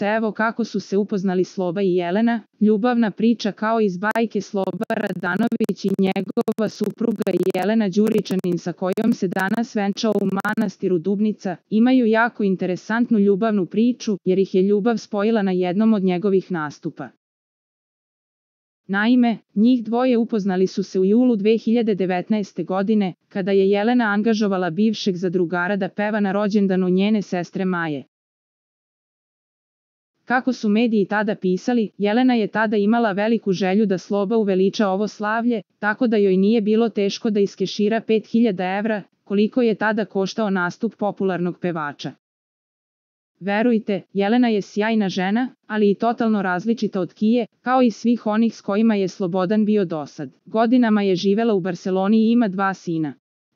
Evo kako su se upoznali Sloba i Jelena, ljubavna priča kao iz bajke Sloba Radanović i njegova supruga Jelena Đuričanin sa kojom se danas venčao u manastiru Dubnica, imaju jako interesantnu ljubavnu priču jer ih je ljubav spojila na jednom od njegovih nastupa. Naime, njih dvoje upoznali su se u julu 2019. godine, kada je Jelena angažovala bivšeg zadrugara da peva na rođendanu njene sestre Maje. Kako su mediji tada pisali, Jelena je tada imala veliku želju da Sloba uveliča ovo slavlje, tako da joj nije bilo teško da iskešira 5000 evra, koliko je tada koštao nastup popularnog pevača. Verujte, Jelena je sjajna žena, ali i totalno različita od Kije, kao i svih onih s kojima je Slobodan bio dosad. Godinama je živela u Barseloni i ima 2 sina.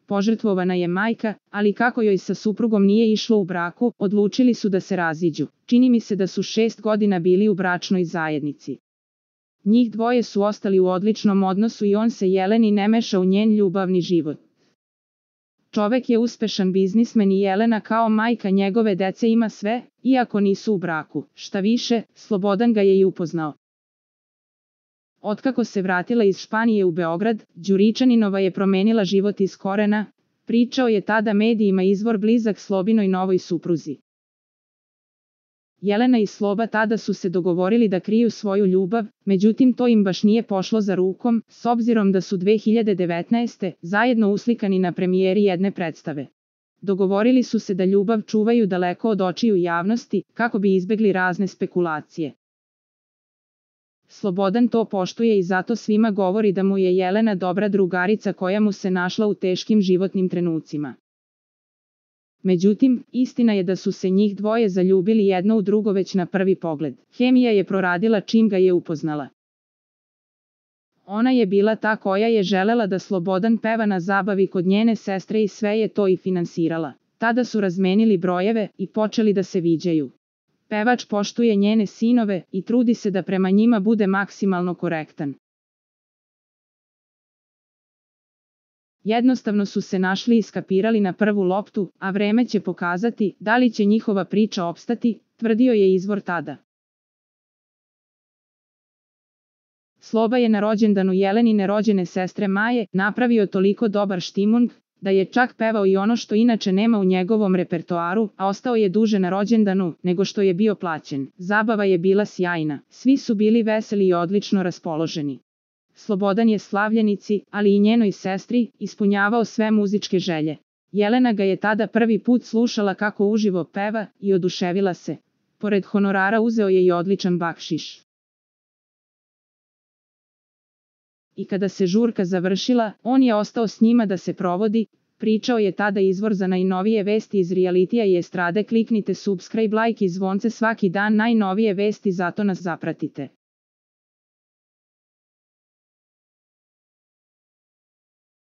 Požrtvovana je majka, ali kako joj sa suprugom nije išlo u braku, odlučili su da se raziđu. Čini mi se da su 6 godina bili u bračnoj zajednici. Njih dvoje su ostali u odličnom odnosu i on se Jeleni ne meša u njen ljubavni život. Čovek je uspešan biznismen i Jelena kao majka njegove dece ima sve, iako nisu u braku. Šta više, Slobodan ga je i upoznao. Otkako se vratila iz Španije u Beograd, Đuričaninova je promenila život iz korena, pričao je tada medijima izvor blizak Slobinoj novoj supruzi. Jelena i Sloba tada su se dogovorili da kriju svoju ljubav, međutim to im baš nije pošlo za rukom, s obzirom da su 2019. zajedno uslikani na premijeri jedne predstave. Dogovorili su se da ljubav čuvaju daleko od očiju javnosti, kako bi izbegli razne spekulacije. Slobodan to poštuje i zato svima govori da mu je Jelena dobra drugarica koja mu se našla u teškim životnim trenucima. Međutim, istina je da su se njih dvoje zaljubili jedno u drugo već na prvi pogled. Hemija je proradila čim ga je upoznala. Ona je bila ta koja je želela da Slobodan peva na zabavi kod njene sestre i sve je to i finansirala. Tada su razmenili brojeve i počeli da se viđaju. Pevač poštuje njene sinove i trudi se da prema njima bude maksimalno korektan. Jednostavno su se našli i skapirali na prvu loptu, a vreme će pokazati da li će njihova priča opstati, tvrdio je izvor tada. Sloba je na rođendanu Jelenine rođene sestre Maje napravio toliko dobar štimung, da je čak pevao i ono što inače nema u njegovom repertoaru, a ostao je duže na rođendanu nego što je bio plaćen. Zabava je bila sjajna, svi su bili veseli i odlično raspoloženi. Slobodan je slavljenici, ali i njenoj sestri, ispunjavao sve muzičke želje. Jelena ga je tada prvi put slušala kako uživo peva i oduševila se. Pored honorara uzeo je i odličan bakšiš. I kada se žurka završila, on je ostao s njima da se provodi, pričao je tada izvor za najnovije vesti iz realitija i estrade. Kliknite subscribe, like i zvonce svaki dan najnovije vesti, zato nas zapratite.